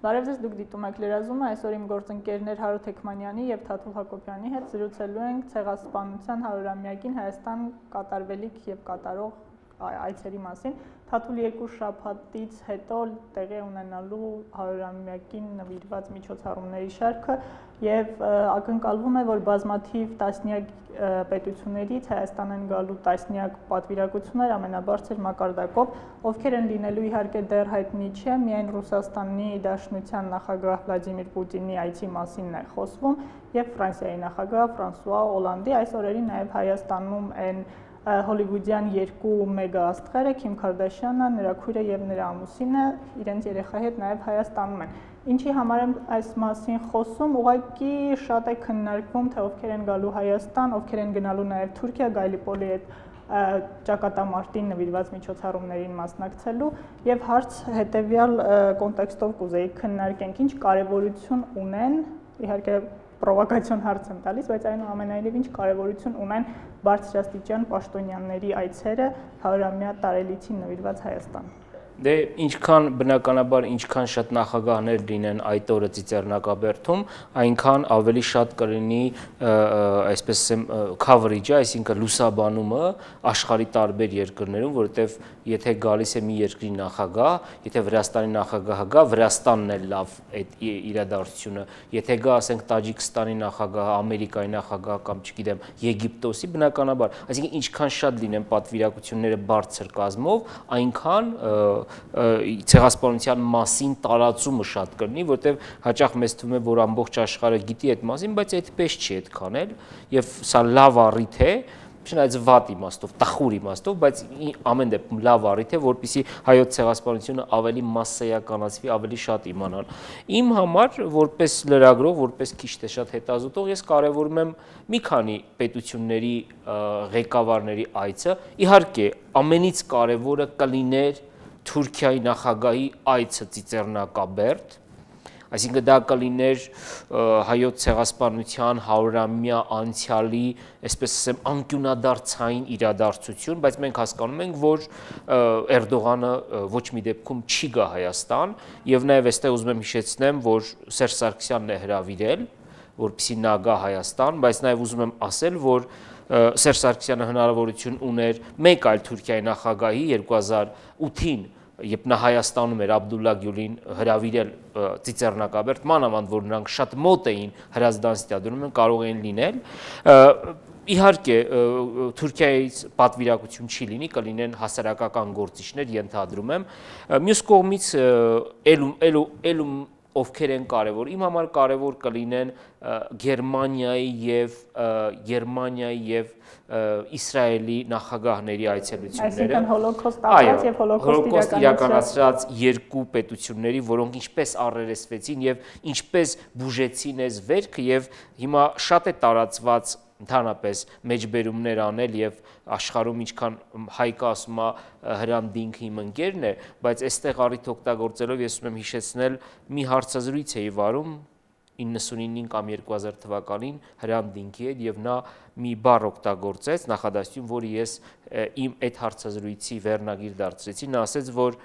Բարև ձեզ, դուք դիտում եք լրազումը, այսօր իմ գործընկերներ Հարութ Թեքմանյանի եւ Թաթուլ Հակոբյանի հետ զրուցելու ենք ցեղասպանության 100-ամյակին Հայաստան կատարվելիք եւ կատարող այցերի մասին։ Թաթուլ 2 շաբաթից հետո տեղի ունենալու 100-ամյակին նվիրված միջոցառումների շարքը եւ ակնկալվում է, որ բազմաթիվ տասնյակ պետություններից Հայաստան են գալու տասնյակ պատվիրակություններ ամենաբարձր մակարդակով, ովքեր են լինելու իհարկե դեռ հայտնի չէ, միայն Ռուսաստանի Դաշնության նախագահ Վլադիմիր Պուտինի այցի մասինն է խոսվում եւ Ֆրանսիայի նախագահ Ֆրանսուଆ Օլանդի այս օրերին նաեւ Հայաստանում են հոլիվուդյան երկու մեգա աստղերը Քիմ Քարդաշյանը, նրա քույրը եւ նրա ամուսինը իրենց երեխայի հետ նաեւ Հայաստանում են։ Ինչի համար եմ այս մասին խոսում, ուղղակի շատ է քննարկվում, թե ովքեր են գալու Հայաստան, ովքեր են գնալու նաեւ Թուրքիա, Գայլիպոլի հետ ճակատամարտին նվիրված միջոցառումներին մասնակցելու եւ հարց հետեւյալ կոնտեքստով կուզեի քննարկենք, ինչ կարեւորություն ունեն, իհարկե պրովոկացիոն հարց եմ տալիս, բայց այնուամենայնիվ ինչ կարևորություն ունեն բարձրաստիճան պաշտոնյաների այցերը 100-ամյա տարելիցին նվիրված Հայաստան։ Դե ինչքան բնականաբար ինչքան շատ նախագահներ լինեն այդ օրը Ծիծեռնակաբերդում, այնքան ավելի շատ կլինի այսպես ասեմ coverage-ը, այսինքն լուսաբանումը աշխարհի տարբեր երկրներում, որովհետև եթե գալիս է մի երկրի նախագահ, եթե Վրաստանի նախագահը գա, Վրաստանն է լավ այդ իրադարձությունը, եթե գա, ասենք Տաջիկստանի նախագահը, Ամերիկայի նախագահը կամ չգիտեմ, Եգիպտոսի, բնականաբար, այսինքն ինչքան շատ լինեն պատվիրակությունները բարձր կազմով, այնքան ցեղասպանության մասին տարածումը շատ կլինի, որտեղ հաճախ մեզ թվում է, որ ամբողջ աշխարհը գիտի այդ մասին, բայց այդպես չի այդքան էլ, եւ սա լավ առիթ է, չնայած վատ իմաստով, տխուր իմաստով, բայց ամեն դեպքում լավ առիթ է, որպեսզի հայոց ցեղասպանությունը ավելի մասսայականացվի, ավելի շատ իմանալ։ Իմ համար, որպես լրագրող, որպես քիչ թե շատ հետազոտող, ես կարևորում եմ մի քանի պետությունների ղեկավարների այցը, իհարկե, ամենից կարևորը կլիներ Թուրքիայի նախագահի այցը Ծիծեռնակաբերդ, այսինքն դա կլիներ հայոց ցեղասպանության 100-ամյա անցյալի, այսպես ասեմ, անկյունադարձային իրադարձություն, բայց մենք հասկանում ենք, որ Էրդողանը ոչ մի դեպքում չի գա Հայաստան, եւ նաեւ այստեղ ուզում եմ հիշեցնեմ, որ Սերժ Սարգսյանն է հրավիրել, որպեսզի նա գա Հայաստան, բայց նաեւ ուզում եմ ասել, որ Սերժ Սարգսյանը հնարավորություն ուներ մեկ այլ Թուրքիայի նախագահի 2008-ին, երբ նա Հայաստանում էր Աբդուլլա Գյուլին հրավիրել Ծիծեռնակաբերդ, մանավանդ որ նրանք շատ մոտ էին Հրազդան ստադիոնում, կարող էին լինել։ Իհարկե Թուրքիայից պատվիրակություն չի լինի, կլինեն հասարակական գործիչներ, ենթադրում եմ։ Մյուս կողմից ելում ովքեր են կարևոր, իմ համար կարևոր կլինեն Գերմանիայի եւ Իսրայելի նախագահների այցելությունները։ Այսինքն հոլոկոստ ապրած եւ հոլոկոստ իրականացրած երկու պետությունների, որոնք ինչպես առերեսվեցին եւ ինչպես բուժեցին այս վերքը եւ հիմա շատ է տարածված ընդհանրապես մեջբերումներ անել եւ աշխարհում ինչքան հայկը ասում է Հրանտ իմ ընկերն է, բայց այստեղ առիթ օգտագործելով ես ուզում եմ հիշեցնել մի հարցազրույց էի վարում 99 կամ 2000 թվականին Հրանտ Դինքի հետ եւ նա մի բառ օգտագործեց նախադասություն, որը ես իմ այդ հարցազրույցի վերնագիր դարձրեցի, նա ասեց, որ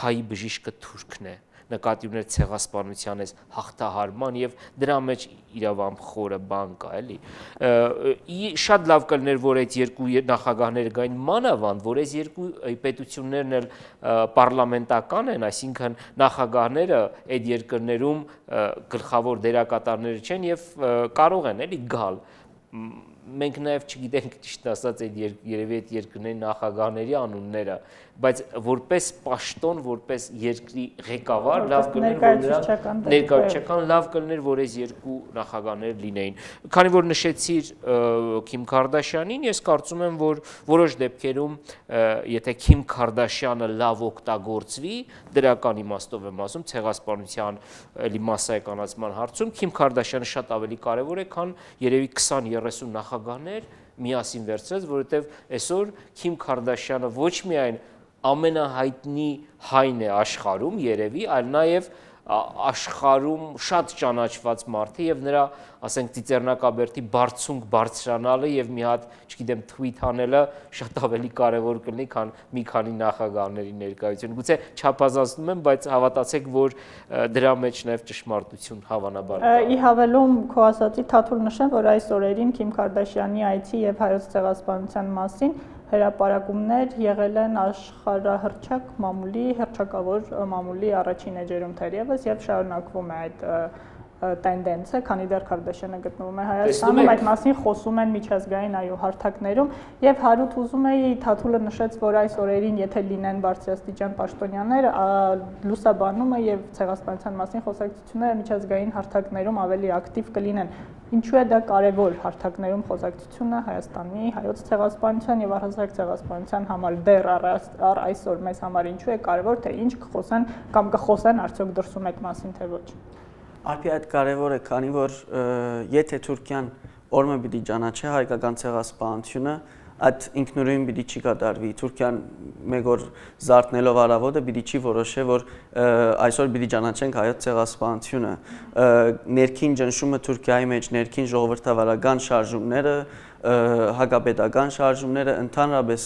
հայի բժիշկը թուրքն է, նկատի ուներ ցեղասպանության այս հաղթահարման եւ դրա մեջ իրավամբ խորը բան կա, էլի։ Շատ լավ կլիներ, որ այդ երկու նախագահները գային, մանավանդ, որ այս երկու պետություններն էլ պարլամենտական են, այսինքն նախագահները այդ երկրներում գլխավոր դերակատարներ չեն եւ կարող են էլի գալ։ Մենք նաև չգիտենք ճիշտ ասած այդ երևի այդ երկրների նախագահների անունները, բայց որպես պաշտոն, որպես երկրի ղեկավար լավ կլիներ, որ նրանք ներկայացական լավ կլիներ, որ այս երկու նախագահներ լինեին։ Քանի որ նշեցիր Քիմ Քարդաշյանին, ես կարծում եմ, որ որոշ դեպքերում եթե Քիմ Քարդաշյանը լավ օգտագործվի, դրական իմաստով եմ ասում, ցեղասպանության էլի մասսայականացման հարցում, Քիմ Քարդաշյանը շատ ավելի կարևոր է, քան երևի 20-30 նախագահներ միասին վերցրած, որովհետև այսօր Քիմ Քարդաշյանը ոչ միայն ամենահայտնի հայն է աշխարհում երևի, այլ նաև աշխարհում շատ ճանաչված մարդ է եւ նրա, ասենք, ծիծեռնակաբերդի բարձունք բարձրանալը եւ մի հատ, չգիտեմ, թվիթ անելը շատ ավելի կարեւոր կլինի, քան մի քանի նախագահների ներկայությունը։ Գուցե չափազանցնում եմ, բայց հավատացեք, որ դրա մեջ նաեւ ճշմարտություն հավանաբար կա։ Ի հավելում քո ասացի Թաթուլ նշեմ, որ այս օրերին Քիմ Քարդաշյանի այցի եւ հայոց ցեղասպանության մասին հրապարակումներ եղել են աշխարհահռչակ մամուլի, հռչակավոր մամուլի առաջին էջերում թերևս եւ շարունակվում է այդ տենդենսը, քանի դեռ Քարդաշյանը գտնվում է Հայաստանում, այդ մասին խոսում են միջազգային հարթակներում եւ Հարութ ուզում էի Թաթուլը նշեց, որ այս օրերին եթե լինեն բարձրաստիճան պաշտոնյաներ, լուսաբանումը եւ ցեղասպանության մասին խոսակցությունները միջազգային հարթակներում ավելի ակտիվ կլինեն։ Ինչու է դա կարևոր հարթակներում խոսակցությունը Հայաստանի հայոց ցեղասպանության եւ առհասարակ ցեղասպանության համար դեռ առ այսօր մեզ համար ինչու է կարևոր, թե ինչ կխոսեն կամ կխոսեն արդյոք դրսում այդ մասին թե ոչ։ Արփի այդ կարևոր է, քանի որ եթե Թուրքիան օրը պիտի ճանաչի հայկական ցեղասպանությունը, այդ ինքնուրույն պիտի չի կատարվի։ Թուրքիան մեկ օր զարթնելով արավոտը պիտի չի որոշի, որ այսօր պիտի ճանաչենք հայոց ցեղասպանությունը։ Ներքին ճնշումը Թուրքիայի մեջ, ներքին ժողովրդավարական շարժումները, հակապետական շարժումները, ընդհանրապես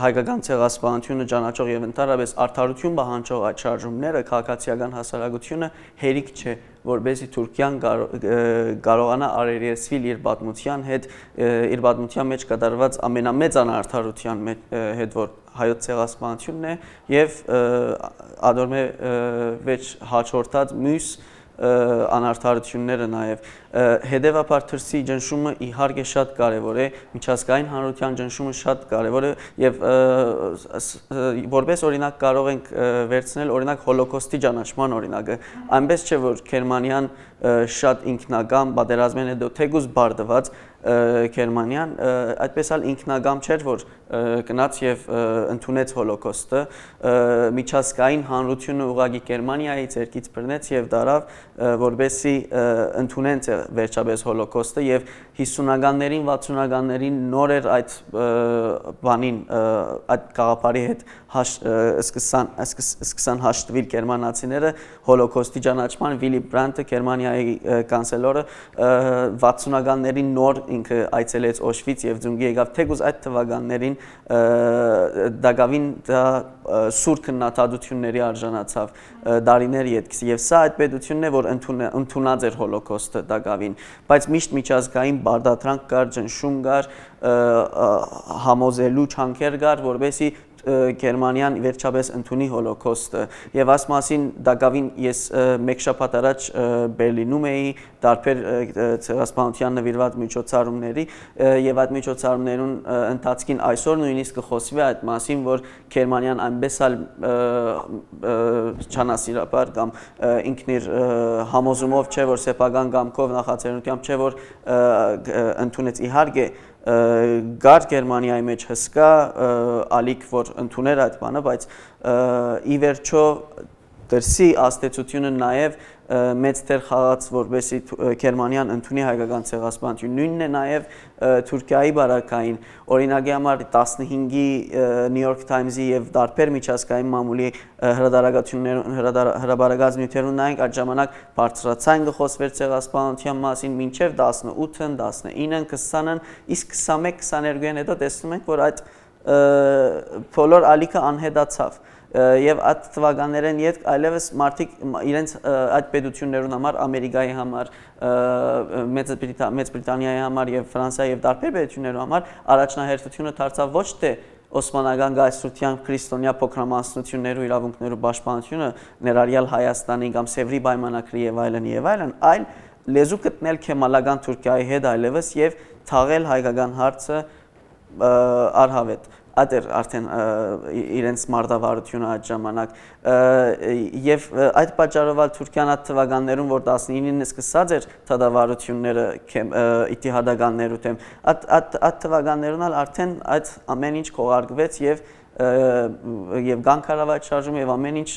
հայկական ցեղասպանությունը ճանաչող եւ ընդհանրապես արդարություն պահանջող այդ շարժումները, քաղաքացիական հասարակությունը հերիք չէ, որբեսի Թուրքիան կարողանա արերեսվել իր պատմության հետ, իր պատմության մեջ կատարված ամենամեծ անարդարության հետ, որ հայոց ցեղասպանությունն է եւ ադորմե վեճ հաջորդած մյուս անարդարությունները նաև հետևաբար թրսի ճնշումը իհարկե շատ կարևոր է, միջազգային հանրության ճնշումը շատ կարևոր է եւ որպես օրինակ կարող ենք վերցնել օրինակ հոլոկոստի ճանաչման օրինակը, այնպես չէ որ Գերմանիան շատ ինքնագամ պատերազմեն հետո թեկուզ բարդված Գերմանիան այդպես էլ ինքնագամ չէր որ գնաց եւ ընդունեց հոլոկոստը միջազգային հանրությունը ուղղակի Գերմանիայից երկից բռնեց եւ դարավ որբեսի ընդունեն վերջապես հոլոկոստը եւ 50-ականներին 60-ականներին նոր էր այդ բանին այդ գաղափարի հետ սկսան հաշտվել գերմանացիները հոլոկոստի ճանաչման Վիլի Բրանտը Գերմանիայի կանցելորը 60-ականներին նոր ինքը այցելեց Օշվից եւ Ձունգի եկավ թեկուզ այդ թվականներին դակավին դա սուր քննադատությունների արժանացավ դարիներ յետքս եւ սա այդ պետությունն է որ ընդունած էր հոլոկոստը դակավին բայց միշտ միջազգային բարդատրանք կար ճնշում կար համոզելու չանքեր կար որովհետեւ Գերմանիան վերջապես ընդունի հոլոկոստը եւ աս մասին դակավին ես մեկ շաբաթ առաջ Բերլինում էի դարբեր ցեղասպանության նվիրված միջոցառումների եւ այդ միջոցառումներուն ընթացքին այսօր նույնիսկ կխոսվի այդ մասին որ Գերմանիան այնպես էլ չանասիրաբար կամ ինքն իր համոզումով չէ որ սեփական կամքով նախաձեռնությամբ չէ որ ընդունեց իհարկե գար Գերմանիայի մեջ հսկա ալիք որ ընդուներ այդ բանը բայց ի վերջո դրսի աստեցությունը նաև մեծ դեր խաղաց որբեսի Գերմանիան ընդունի հայկական ցեղասպանություն նույնն է նաև Թուրքիայի բարակային օրինակի համար 15-ի New York Times-ի եւ դարբեր միջազգային մամուլի հրաբարակած նյութերուն նայենք այդ ժամանակ բարձրացան գխոսվեր ցեղասպանության մասին մինչեւ 18-ն 19-ն 20-ն իսկ 21-22-ն հետո տեսնում ենք որ այդ բոլոր ալիքը անհետացավ եւ այդ թվականներեն յետ այլևս մարդիկ իրենց այդ պետություններուն համար Ամերիկայի համար Մեծ Բրիտանիայի համար եւ Ֆրանսիայի եւ դարբեր պետություններու համար առաջնահերթությունը դարձավ ոչ թե Օսմանական գայսրության քրիստոնյա փոքրամասնություններու իրավունքներու պաշտպանությունը ներառյալ Հայաստանի կամ Սևրի պայմանագրի եւ այլն, այլ լեզու գտնել քեմալական Թուրքիայի հետ այլևս եւ թաղել հայկական հարցը արհավետ Ադեր արդեն իրենց մարտավարությունը այդ ժամանակ եւ այդ պատճառով Թուրքիան այդ թվականներում որ 19-ին սկսած էր թադավարությունները իթիհադականներու դեմ այդ թվականներուն արդեն այդ ամեն ինչ կողարկվեց եւ գանքարավայր շարժում եւ ամեն ինչ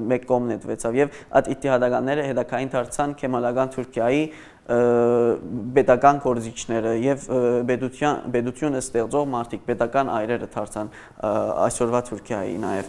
մեկ կողմ նետվեցավ եւ այդ իթիհադականները հետակային դարձան քեմալական Թուրքիայի պետական կորզիչները եւ պետությունը ստեղծող մարդիկ, պետական այրերը դարձան այսօրվա Թուրքիայի նաեւ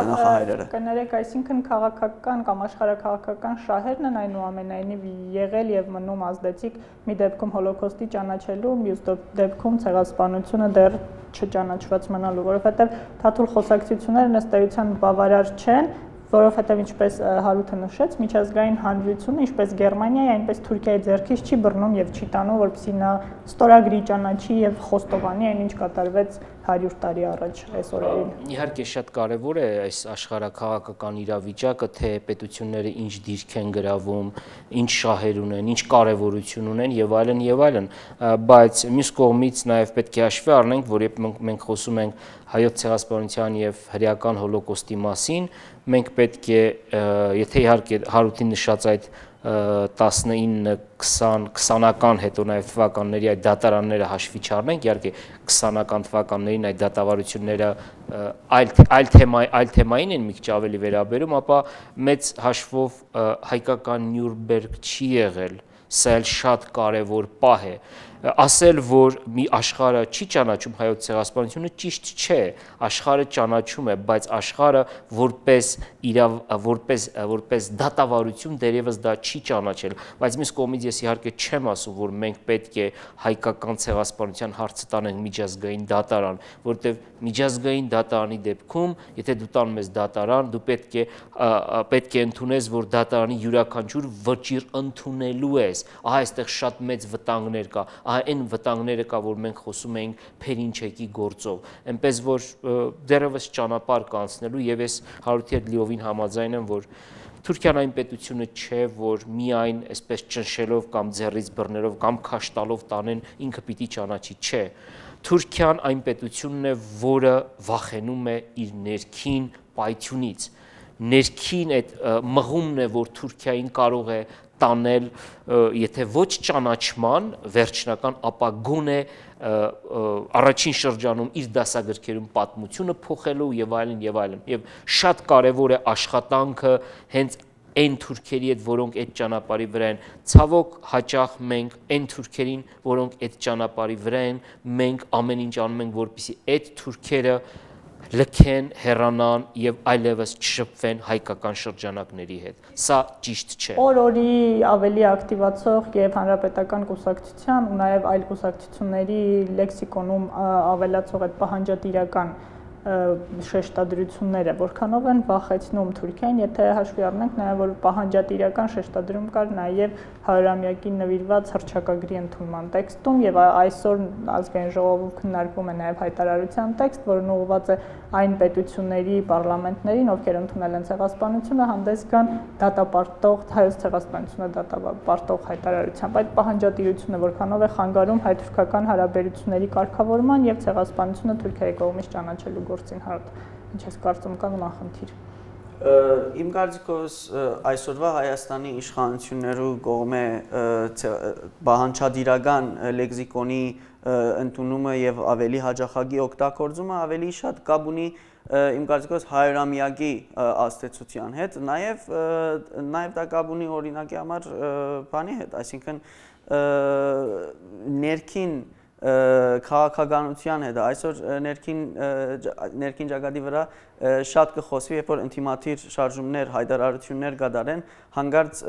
նախահայրերը։ Կներեք, այսինքն քաղաքական կամ աշխարհաքաղաքական շահերն են այնուամենայնիվ եղել եւ մնում ազդեցիկ մի դեպքում հոլոկոստի ճանաչելու, մյուս դեպքում ցեղասպանությունը դեռ չճանաչված մնալու, որովհետեւ թաթուլ խոսակցությունները ըստ էության բավարար չեն, որովհետև ինչպես Հարութը նշեց, միջազգային հանրությունը, ինչպես Գերմանիայի, այնպես Թուրքիայի ձեռքից չի բռնում եւ չի տանում, որպեսզի նա ստորագրի, ճանաչի եւ խոստովանի այն, ինչ կատարվեց 100 տարի առաջ այս օրերին։ Իհարկե շատ կարևոր է այս աշխարհաքաղաքական իրավիճակը, թե պետությունները ինչ դիրք են գրավում, ինչ շահեր ունեն, ինչ կարևորություն ունեն եւ այլն, բայց մյուս կողմից նաեւ պետք է հաշվի առնենք, որ երբ մենք խոսում ենք հայոց ցեղասպանության եւ հրեական հոլոկոստի մասին, մենք պետք է, եթե իհարկե Հարութի նշած այդ 19-20-ական հետո նաև թվականների այդ դատարանները հաշվի չառնենք, իհարկե 20-ական թվականներին այդ դատավարությունները այլ թեմային են մի քիչ ավելի վերաբերում, ապա մեծ հաշվով հայկական Նյուրնբերգ չի եղել, սա էլ շատ կարևոր պահ է։ Ասել, որ մի աշխարհը չի ճանաչում հայոց ցեղասպանությունը ճիշտ չէ, աշխարհը ճանաչում է, բայց աշխարհը որպես դատավարություն դերևս դա չի ճանաչել, բայց մյուս կողմից ես իհարկե չեմ ասում, որ մենք պետք է հայկական ցեղասպանության հարցը տանենք միջազգային դատարան, որտեղ միջազգային դատարանի դեպքում, եթե դու տանում ես դատարան, դու պետք է ընդունես, որ դատարանի յուրաքանչյուր վճիռ ընդունելու ես, ահա այստեղ շատ մեծ վտանգներ կա, այն վտանգները կա, որ մենք խոսում ենք Փերինչեկի գործով, այնպես որ դեռևս ճանապարհ կա անցնելու եւ ես Հարութի հետ լիովին համաձայն եմ, որ Թուրքիան այն պետությունը չէ, որ միայն այսպես ճնշելով կամ ձեռից բռներով կամ քաշ տալով տանեն ինքը պիտի ճանաչի, չէ։ Թուրքիան այն պետությունն է, որը վախենում է իր ներքին պայթյունից։ Ներքին այդ մղումն է, որ Թուրքիային կարող է տանել, եթե ոչ ճանաչման վերջնական, ապա գոնե առաջին շրջանում իր դասագրքերում պատմությունը փոխելու եւ այլն, եւ շատ կարեւոր է աշխատանքը հենց այն թուրքերի հետ, որոնք այդ ճանապարհի վրա են, ցավոք հաճախ մենք այն թուրքերին, որոնք այդ ճանապարհի վրա են, մենք ամեն ինչ անում ենք, որպեսզի այդ թուրքերը լքեն, հեռանան եւ այլևս չշփվեն հայկական շրջանակների հետ։ Սա ճիշտ չէ։ Օր-օրի ավելի ակտիվացող եւ հանրապետական կուսակցության ու նաեւ այլ կուսակցությունների լեքսիկոնում ավելացող այդ պահանջատիրական շեշտադրությունները, որքանով են վախեցնում Թուրքիան, եթե հաշվի առնենք նաև որ պահանջատիրական շեշտադրում կար նաև 100-ամյակին նվիրված հռչակագրի ընդունման տեքստում եւ այսօր ազգային ժողովում քննարկվում է նաև հայտարարության տեքստ, որն ուղղված է այն պետությունների պարլամենտներին, ովքեր ընդունել են ցեղասպանությունը, հանդես գան դատապարտող հայոց ցեղասպանությունը դատապարտող հայտարարությամբ։ Այդ պահանջատիրությունը որքանով է խանգարում հայ-թուրքական հարաբերությունների կարգավորման եւ ցեղասպանությունը Թուրքիայի կողմից ճանաչելու գործին հարթ։ Ինչ ես կարծում կան նախնդիր։ Իմ կարծիքով այսօրվա Հայաստանի իշխանություններու կողմէ բանջարդիրական լեքսիկոնի ընդունումը եւ ավելի հաջողակի օգտագործումը ավելի շատ կապ ունի իմ կարծիքով 100-ամյակի աստեցության հետ, նաեւ դա կապ ունի օրինակի համար բանի հետ, այսինքն ներքին քաղաքականության հետ այսօր ներքին ճակատի վրա շատ կխոսվի, երբ որ ինտիմատիր շարժումներ, հայտարարություններ կատարեն, հանկարծ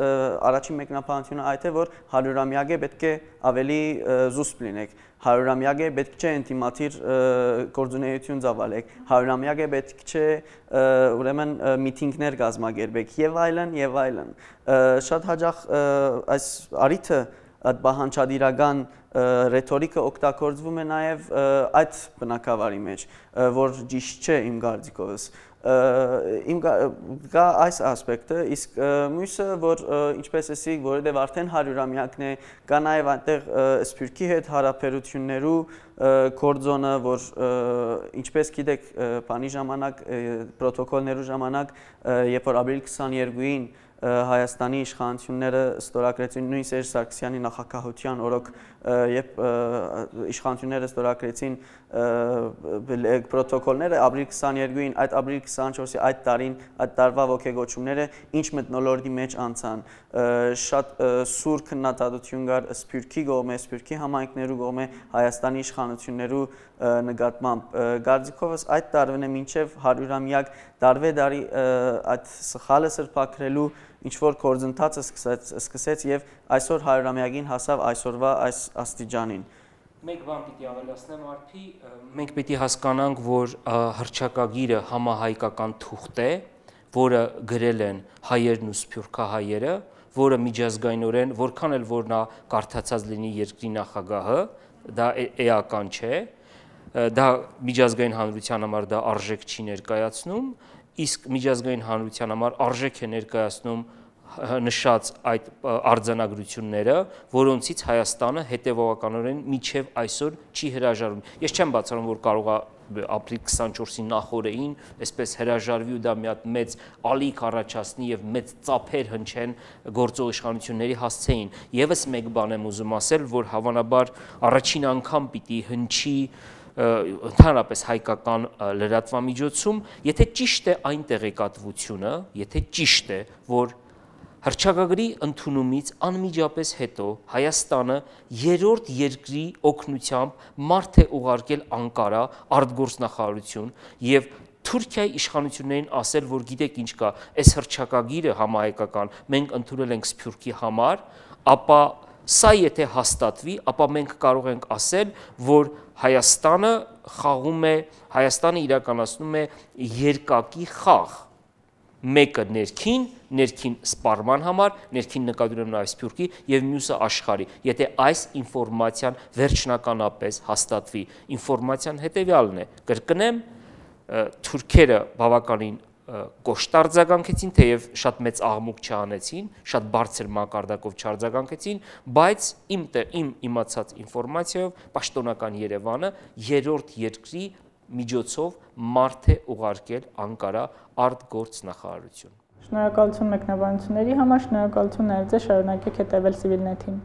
առաջին մեկնաբանությունը այդ է, որ 100-ամյակ է պետք է ավելի զուսպ լինեք, 100-ամյակ է պետք չէ ինտիմատիր գործունեություն ծավալեք, 100-ամյակ է պետք չէ ուրեմն միտինգներ կազմակերպեք եւ այլն, շատ հաճախ այս արիթը այդ բանջարդիրական ռետորիկը օգտագործվում է նաև այդ բնակավարի մեջ, որ ճիշտ չէ իմ կարծիքովս։ Կա այս ասպեկտը, իսկ մյուսը, որ ինչպես ասի, որովհետև արդեն 100-ամյակն է, կա նաև այնտեղ Սփյուռքի հետ հարաբերություններու կորձոնը, որ ինչպես գիտեք, բանի ժամանակ, պրոտոկոլներու ժամանակ, երբ որ ապրիլ 22-ին Հայաստանի իշխանությունները ստորագրեցին նույն Սերժ Սարգսյանի նախագահության օրոք երբ իշխանությունները ստորագրեցին պրոտոկոլները ապրիլ 22-ին, այդ ապրիլ 24-ի այդ տարին, այդ տարվա ոգեգոճումները ինչ մթնոլորտի մեջ անցան, շատ սուր քննադատություն կար Սփյուռքի կողմէ, Սփյուռքի համայնքներու կողմէ Հայաստանի իշխանություններու նկատմամբ։ Գարձիկովս այդ տարվան է մինչև 100-ամյակ տարվե-տարի այդ սխալը սրբակրելու ինչ-որ գործընթացը սկսեց եւ այսօր 100-ամյակին հասավ այսօրվա այս աստիճանին։ Մեկ բան պիտի ավելացնեմ արփի, մենք պիտի հասկանանք, որ հռչակագիրը համահայկական թուղթ է, որը գրել են հայերն ու սփյուռքահայերը, որը միջազգայինորեն, որքան էլ որ նա կարդացած լինի երկրի նախագահը, դա էական չէ, դա միջազգային հանրության համար դա արժեք չի ներկայացնում, իսկ միջազգային հանրության համար արժեք է ներկայացնում նշած այդ արձանագրությունները, որոնցից Հայաստանը հետևողականորեն միջև այսօր չի հրաժարվում։ Ես չեմ բացառում, որ կարող է ապրիլ 24-ի նախօրեին այսպես հրաժարվի ու դա մի հատ մեծ ալիք առաջացնի եւ մեծ ծափեր հնչեն գործող իշխանությունների հասցեին։ Եվս մեկ բան եմ ուզում ասել, որ հավանաբար առաջին անգամ պիտի հնչի ընդհանրապես հայկական լրատվամիջոցում, եթե ճիշտ է այն տեղեկատվությունը, եթե ճիշտ է, որ հռչակագրի ընդունումից անմիջապես հետո Հայաստանը երրորդ երկրի օգնությամբ մարդ է ուղարկել Անկարա արտգործնախարարություն եւ Թուրքիայի իշխանություններին ասել, որ գիտեք ինչ կա, այս հռչակագիրը համահայկական մենք ընդունել ենք Սփյուռքի համար, ապա սա եթե հաստատվի, ապա մենք կարող ենք ասել, որ Հայաստանը խաղում է, Հայաստանը իրականացնում է երկակի խաղ, մեկը ներքին սպառման համար, ներքին նկատի ունեմ նաև Սփյուռքի եւ մյուսը աշխարհի։ Եթե այս ինֆորմացիան վերջնականապես հաստատվի, ինֆորմացիան հետեւյալն է. կրկնեմ, թուրքերը բավականին կոշտ արձագանքեցին, թեև շատ մեծ աղմուկ չանեցին, շատ բարձր մակարդակով չարձագանքեցին, բայց իմ իմացած ինֆորմացիայով պաշտոնական Երևանը երրորդ երկրի միջոցով մարդ է ուղարկել Անկարա արտգործնախարարություն։ Շնորհակալություն մեկնաբանությունների համար, շնորհակալություն նաև ձեզ, շարունակեք հետևել Civilnet-ին։